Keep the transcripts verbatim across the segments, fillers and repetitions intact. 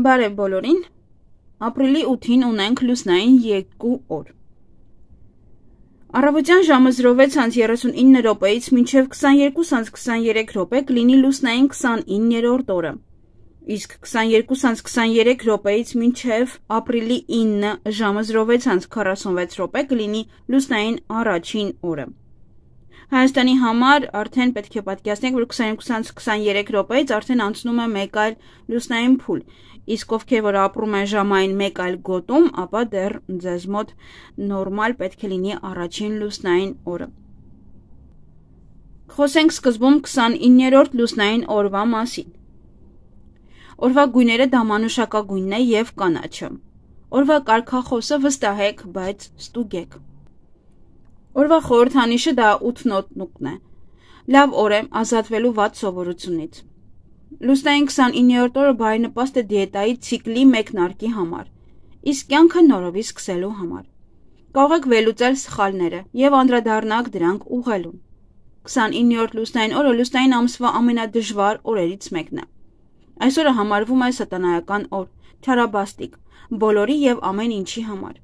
Բարև բոլորին, ապրիլի ութին ունենք լուսնային երկու օր։ Առավոտյան ժամը զրո վեց հանց երեսունինը րոպեից մինչև քսաներկու հանց քսաներեք րոպե կլինի լուսնային քսանիններորդ օրը, իսկ քսաներկու հանց քսաներեք րոպեից մինչև ապրիլի ինը ժամը զրո վեց հանց քառասունվեց րոպե կլինի լուսնային առաջին օրը։ Հայաստանի համար արդեն պետք է պատկերացնենք, որ քսաներկու հանց քսաներեք րոպեից արդեն անցնում է մեկ այլ լուսնային փուլ, իսկ ովքեր որ ապրում են ժամային մեկ այլ գոտում, ապա դեռ ձեզ մոտ նորմալ պետք է լինի առաջին լուսնային օրը։ Խոսենք սկզբում քսանիններորդ լուսնային օրվա մասին։ Օրվա գույները դամանուշակագույնն է և կանաչը։ Օրվա կարգախոսը վստահեք, բայց ստուգեք։ Օրվա խորհրդանիշը դա ութ նոտնուկն է։ Լավ օր է ազատվելու վատ սովորությունից։ Լուսնային քսանիններորդ օրը բարենպաստ է դիետայի ցիկլի մեկնարկի համար, իսկ կյանքը նորովի սկսելու համար։ Կարող եք վերլուծել սխալները և անդրադառնաք դրանք ուղղելուն։ քսանիններորդ լուսնային օրը լուսնային ամսվա ամենադժվար օրերից մեկն է։ Այս օրը համարվում է սատանայական օր, չարաբաստիկ, բոլորի և ամեն ինչի համար։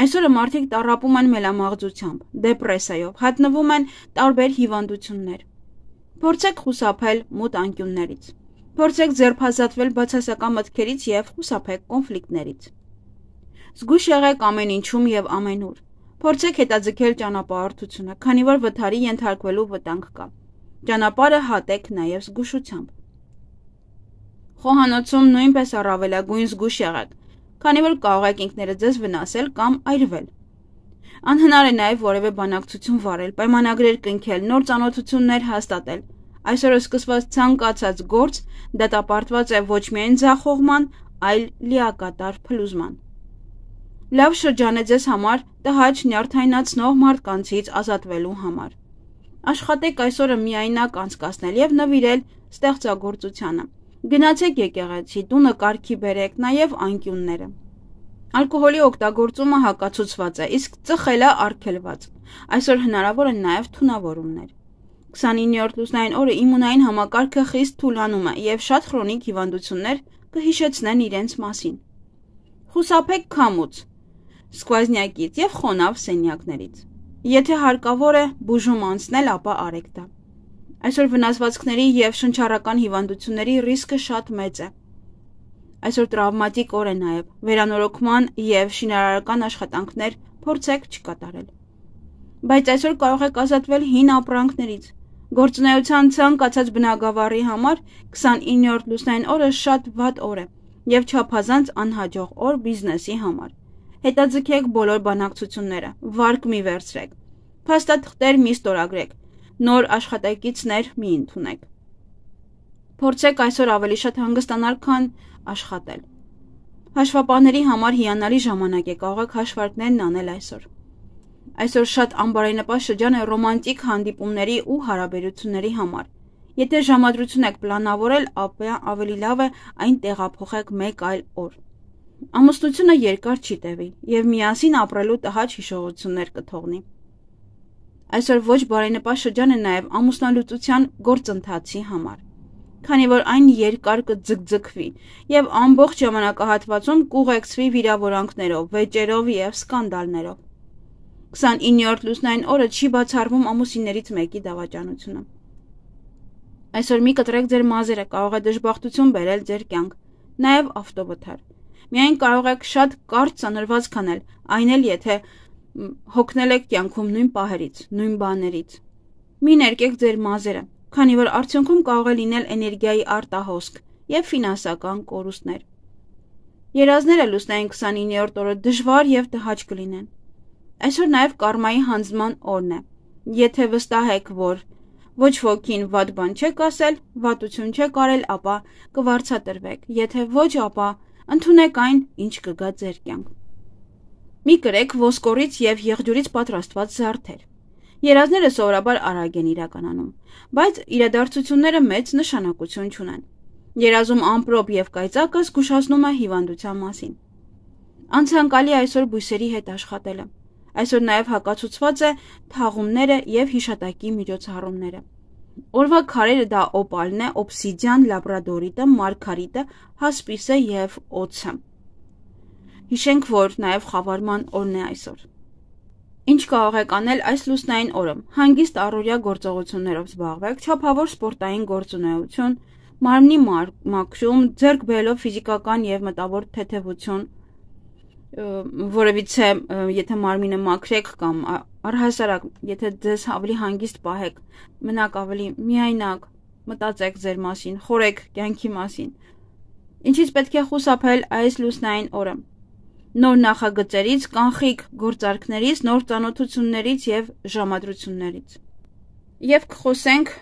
Այսօրը մարդիկ տառապում են մելամաղձությամբ, դեպրեսիայով, հատնվում են տարբեր հիվանդություններ։ Փորձեք խուսափել մութ անկյուններից։ Փորձեք ձերբազատվել բացասական մտքերից և խուսափեք կոնֆլիկտներից։ Զգույշ եղեք ամեն ինչում և ամենուր։ Փորձեք հետաձգել ճանապարհորդությունը, քանի որ վթարի ենթարկվելու վտանգ կա։ Ճանապարհը հատեք նաև զգուշությամբ։ Խոհանոցում նույնպես առավելագույն զգույշ եղեք, քանի որ կարող եք ինքներդ ձեզ վնասել կամ այրվել։ Անհնար է նաև որևէ բանակցություն վարել, պայմանագրեր կնքել, նոր ծանոթություններ հաստատել։ Այսօր սկսված ցանկացած գործ դատապարտված է ոչ միայն ձախողման, այլ լիակատար փլուզման։ Լավ շրջան է ձեզ համար տհաճ նյարդայնացնող մարդկանցից ազատվելու համար։ Աշխատեք այսօրը միայնակ անցկացնել և նվիրել ստեղծագործությանը։ Գնացեք եկեղեցի, տունը կարգի բերեք, նաև անկյունները։ Ալկոհոլի օգտագործումը հակացուցված է, իսկ ծխելը արգելված։ Այսօր հնարավոր են նաև թունավորումներ։ քսանիններորդ լուսնային օրը իմունային համակարգը խիստ թուլանում է և շատ խրոնիկ հիվանդություններ կհիշեցնեն իրենց մասին։ Խուսափեք քամուց, սկվազնյակից և խոնավ սենյակներից։ Եթե հարկավոր է բուժում անցնել, ապա արեք դա։ Այսօր վնասվածքների և շնչառական հիվանդությունների ռիսկը շատ մեծ է։ Այսօր տրավմատիկ օր է նաև, վերանորոգման և շինարարական աշխատանքներ փորձեք չկատարել։ Բայց այսօր կարող եք ազատվել հին ապրանքներից։ Գործունեության ցանկացած բնագավառի համար քսանիններորդ լուսնային օրը շատ վատ օր է և չափազանց անհաջող օր բիզնեսի համար։ Հետաձգեք բոլոր բանակցությունները, վարկ մի վերցրեք, փաստաթղթեր մի ստորագրեք, նոր աշխատակիցներ մի ընդունեք։ Փորձեք այսօր ավելի շատ հանգստանալ, քան աշխատել։ Հաշվապահների համար հիանալի ժամանակ է, կարող եք հաշվարկներն անել այսօր։ Այսօր շատ անբարենպաստ շրջան է ռոմանտիկ հանդիպումների ու հարաբերությունների համար։ Եթե ժամադրություն եք պլանավորել, ապա ավելի լավ է այն տեղափոխեք մեկ այլ օր։ Ամուսնությունը երկար չի տևի և միասին ապրելու տհաճ հիշողություններ կթողնի։ Այսօր ոչ բարենպաստ շրջան է նաև ամուսնալուծության գործընթացի համար, քանի որ այն երկար կձգձգվի և ամբողջ ժամանակահատվածում կուղեկցվի վիրավորանքներով, վեճերով և սկանդալներով։ քսանիններորդ լուսնային օրը չի բացառվում ամուսիններից մեկի դավաճանությունը։ Այսօր մի կտրեք ձեր մազերը, կարող է դժբախտություն բերել ձեր կյանք, նաև ավտովթար։ Միայն կարող եք շատ կարճ ծանրվածք անել, այն էլ եթե հոգնել եք կյանքում նույն պահերից, նույն բաներից։ Մի ներկեք ձեր մազերը, քանի որ արդյունքում կարող է լինել էներգիայի արտահոսք և ֆինանսական կորուստներ։ Երազները լուսնային քսանիններորդ օրը դժվար և տհաճ կլինեն։ Այսօր նաև կարմայի հանձնման օրն է։ Եթե վստահ եք, որ ոչ ոքին վատ բան չեք ասել, վատություն չեք արել, ապա կվարձատրվեք, եթե ոչ, ապա ընդունեք այն, ինչ կգա ձեր կյանք։ Մի կրեք ոսկորից և եղջյուրից պատրաստված զարդեր։ Երազները սովորաբար արագ են իրականանում, բայց իրադարձությունները մեծ նշանակություն չունեն։ Երազում ամպրոպ և կայծակը զգուշացնում է հիվանդության մասին։ Անցանկալի այսօր բույսերի հետ աշխատելը։ Այսօր նաև հակացուցված է թաղումները և հիշատակի միջոցառումները։ Օրվա քարերը դա օպալն է, օբսիդիան, լաբրադորիտը, մարգարիտը, հասպիսը և օձը։ Հիշենք, որ նաև խավարման օրն է այսօր։ Ինչ կարող եք անել այս լուսնային օրը։ Հանգիստ առօրյա գործողություններով զբաղվեք, չափավոր սպորտային գործունեություն, մարմնի մաքրում, ձեռք բերելով ֆիզիկական և մտավոր թեթևություն, որևիցե եթե մարմինը մաքրեք կամ առհասարակ եթե ձեզ ավելի հանգիստ պահեք, մնաք ավելի միայնակ, մտածեք ձեր մասին, խորեք կյանքի մասին։ Ինչից պետք է խուսափել այս լուսնային օրը։ Նոր նախագծերից, կանխիկ գործարքներից, նոր ծանոթություններից և ժամադրություններից։ Եվ կխոսենք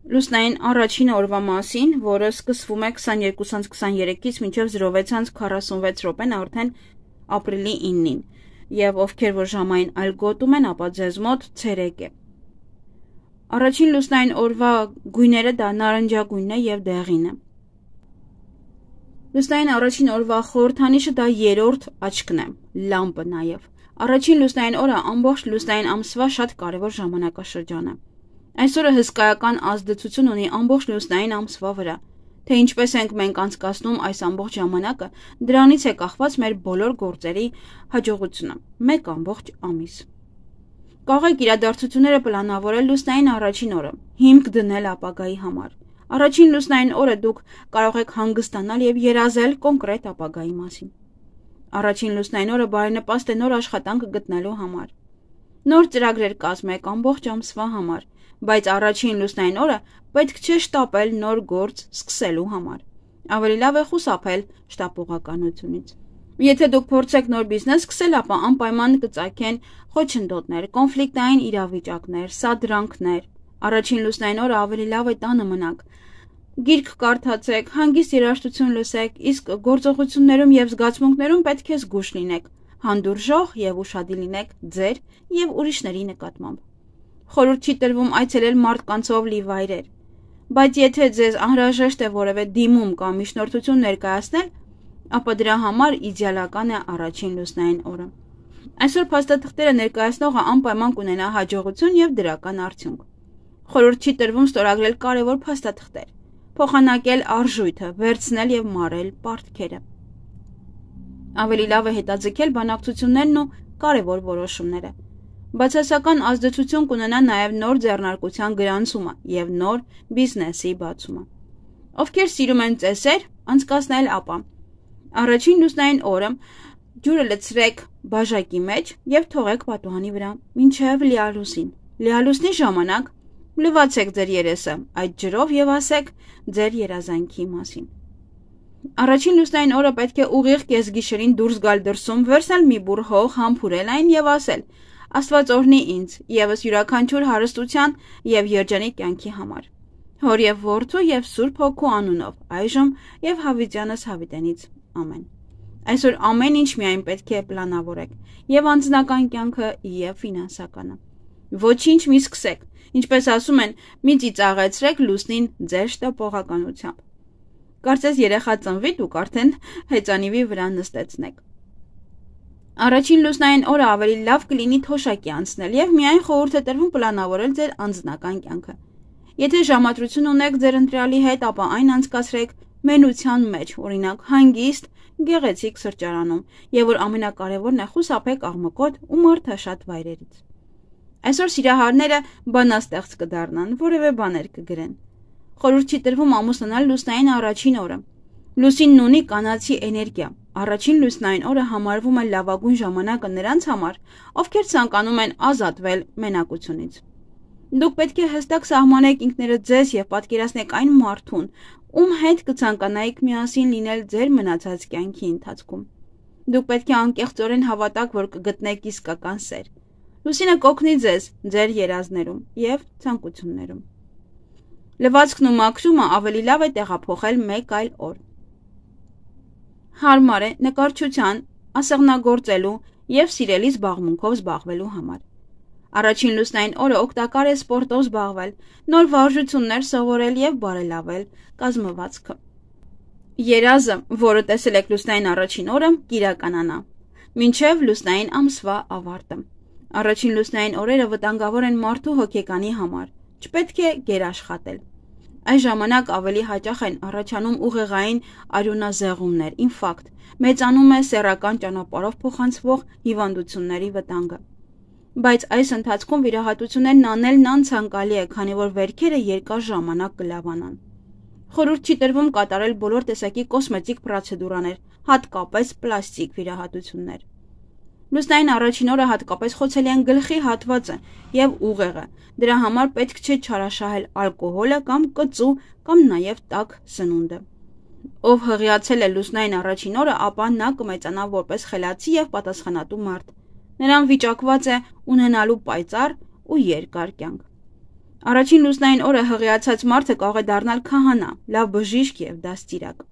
լուսնային առաջին օրվա մասին, որը սկսվում է քսաներկուսից քսաներեքից մինչև զրո վեցից քառասունվեց րոպեն արդեն ապրիլի իննին, և ովքեր որ ժամային այլ գոտում են, ապա ձեզ մոտ ցերեկ է։ Առաջին լուսնային օրվա գույները դա նարնջագույնն է և դեղինը։ Լուսնային առաջին օրվա խորհրդանիշը դա երրորդ աչքն է, լամպը նաև։ Առաջին լուսնային օրը ամբողջ լուսնային ամսվա շատ կարևոր ժամանակաշրջան է։ Այս օրը հսկայական ազդեցություն ունի ամբողջ լուսնային ամսվա վրա, թե ինչպես ենք մենք անցկացնում այս ամբողջ ժամանակը, դրանից է կախված մեր բոլոր գործերի հաջողությունը, մեկ ամբողջ ամիս։ Կարող եք իրադարձությունները պլանավորել լուսնային առաջին օրը, հիմք դնել ապագայի համար։ Առաջին լուսնային օրը դուք կարող եք հանգստանալ և երազել կոնկրետ ապագայի մասին։ Առաջին լուսնային օրը բարենպաստ է նոր աշխատանք գտնելու համար։ Նոր ծրագրեր կազմեք ամբողջ ամսվա համար, բայց առաջին լուսնային օրը պետք չէ շտապել նոր գործ սկսելու համար։ Ավելի լավ է խուսափել շտապողականությունից։ Եթե դուք փորձեք նոր բիզնես սկսել, ապա անպայման կծագեն խոչընդոտներ, կոնֆլիկտային իրավիճակներ, սադրանքներ։ Առաջին լուսնային օրը ավելի լավ է տանը մնաք։ Գիրք կարդացեք, հանգիստ երաժշտություն լսեք, իսկ գործողություններում և զգացմունքներում պետք է զգույշ լինեք, հանդուրժող և ուշադիր լինեք ձեր և ուրիշների նկատմամբ։ Խորհուրդ չի տրվում այցելել մարդկանցով լի վայրեր, բայց եթե ձեզ անհրաժեշտ է որևէ դիմում կամ միջնորդություն ներկայացնել, ապա դրա համար իդեալական է առաջին լուսնային օրը։ Այսօր փաստաթղթերը ներկայացնողը անպայման կունենա հաջողություն և դրական արդյունք։ Խորհուրդ չի տրվում ստորագրել կարևոր փաստաթղթեր, փոխանակել արժույթը, վերցնել և մարել պարտքերը։ Ավելի լավ է հետաձգել բանակցություններն ու կարևոր որոշումները։ Բացասական ազդեցություն կունենա նաև նոր ձեռնարկության գրանցումը և նոր բիզնեսի բացումը։ Ովքեր սիրում են ծեսեր, անցկացնել ապա։ Առաջին լուսնային օրը ջուրը լցրեք բաժակի մեջ և թողեք պատուհանի վրա մինչև լիալուսին։ Լիալուսնի ժամանակ լվացեք ձեր երեսը այդ ջրով և ասեք ձեր երազանքի մասին։ Առաջին լուսնային օրը պետք է ուղիղ կեսգիշերին դուրս գալ դրսում, վերցնել մի բուռ հող, համբուրել այն և ասել. Աստված օրհնի ինձ ևս յուրաքանչյուր հարստության և երջանիկ կյանքի համար։ Հոր և որդու և Սուրբ Հոգու անունով, այժմ և հավիտյանս հավիտենից։ Ամեն։ Այսօր ամեն ինչ միայն պետք է պլանավորեք, և անձնական կյանքը, և ֆինանսականը։ Ոչինչ մի սկսեք, ինչպես ասում են, մի ծիծաղեցրեք լուսնին ձեր շտապողականությամբ։ Կարծես երեխա ծնվի, դուք արդեն հեծանիվի վրա նստեցնեք։ Առաջին լուսնային օրը ավելի լավ կլինի թոշակի անցնել և միայն խորհուրդ է տրվում պլանավորել ձեր անձնական կյանքը։ Եթե ժամադրություն ունեք ձեր ընտրյալի հետ, ապա այն անցկացրեք մենության մեջ, օրինակ հանգիստ, գեղեցիկ սրճարանում, և որ ամենակարևորն է խուսափեք աղմկոտ ու մարդաշատ վայրերից։ Այսօր սիրահարները բանաստեղծ կդառնան, որևէ բաներ կգրեն։ Խորհուրդ չի տրվում ամուսնանալ լուսնային առաջին օրը։ Լուսինն ունի կանացի էներգիա։ Առաջին լուսնային օրը համարվում է լավագույն ժամանակը նրանց համար, ովքեր ցանկանում են ազատվել մենակությունից։ Դուք պետք է հստակ սահմանեք ինքներդ ձեզ և պատկերացնեք այն մարդուն, ում հետ կցանկանայիք միասին լինել ձեր մնացած կյանքի ընթացքում։ Դուք պետք է անկեղծորեն հավատաք, որ կգտնեք իսկական սեր։ Լուսինը կօգնի ձեզ ձեր երազներում և ցանկություններում։ Լվացքն ու մաքրումը ավելի լավ է տեղափոխել մեկ այլ օր։ Հարմար է նկարչության, ասեղնագործելու և սիրելի զբաղմունքով զբաղվելու համար։ Առաջին լուսնային օրը օգտակար է սպորտով զբաղվել, նոր վարժություններ սովորել և բարելավել կազմվածքը։ Երազը, որը տեսել եք լուսնային առաջին օրը, կիրականանա, մինչև լուսնային ամսվա ավարտը։ Առաջին լուսնային օրերը վտանգավոր են մարդու հոգեկանի համար, Չպետք է գերաշխատել։ Այս ժամանակ ավելի հաճախ են առաջանում ուղեղային արյունազեղումներ, ինֆարկտ, մեծանում է սեռական ճանապարհով փոխանցվող հիվանդությունների վտանգը։ Բայց այս ընթացքում վիրահատություններն անելն անցանկալի է, քանի որ վերքերը երկար ժամանակ կլավանան։ Խորհուրդ չի տրվում կատարել բոլոր տեսակի կոսմետիկ պրոցեդուրաներ, հատկապես պլաստիկ վիրահատություններ։ Լուսնային առաջին օրը հատկապես խոցելի են գլխի հատվածը և ուղեղը, դրա համար պետք չէ չարաշահել ալկոհոլը կամ կծու կամ նաև տաք սնունդը։ Ով հղիացել է լուսնային առաջին օրը, ապա նա կմեծանա որպես խելացի և պատասխանատու մարդ։ Նրան վիճակված է ունենալու պայծառ ու երկար կյանք։ Առաջին լուսնային օրը հղիացած մարդը կարող է դառնալ քահանա, լավ բժիշկ և դաստիարակ։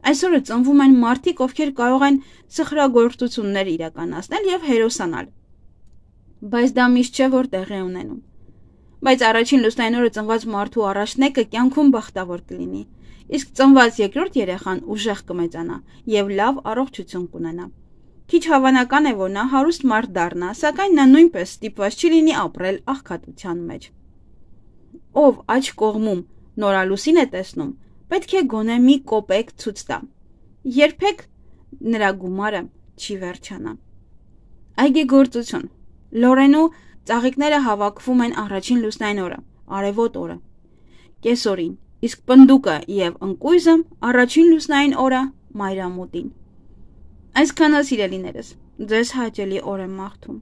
Այսօրը ծնվում են մարդիկ, ովքեր կարող են սխրագործություններ իրականացնել և հերոսանալ, բայց դա միշտ չէ, որ տեղի է ունենում։ Բայց առաջին լուսնային օրը ծնված մարդու առաջնեկը կյանքում բախտավոր կլինի, իսկ ծնված երկրորդ երեխան ուժեղ կմեծանա և լավ առողջություն կունենա։ Քիչ հավանական է, որ նա հարուստ մարդ դառնա, սակայն նա նույնպես ստիպված չի լինի ապրել աղքատության մեջ։ Ով աջ կողմում նորալուսին է տեսնում, պետք է գոնե մի կոպեկ ցույց տա։ Երբեք նրա գումարը չի վերջանա։ Այգեգործություն։ Լորենու ծաղիկները հավաքվում են առաջին լուսնային օրը, արևոտ օրը, կեսօրին, իսկ պնդուկը և ընկույզը առաջին լուսնային օրը, մայրամուտին։ Այսքանը, սիրելիներս, ձեզ հաճելի օր եմ մաղթում։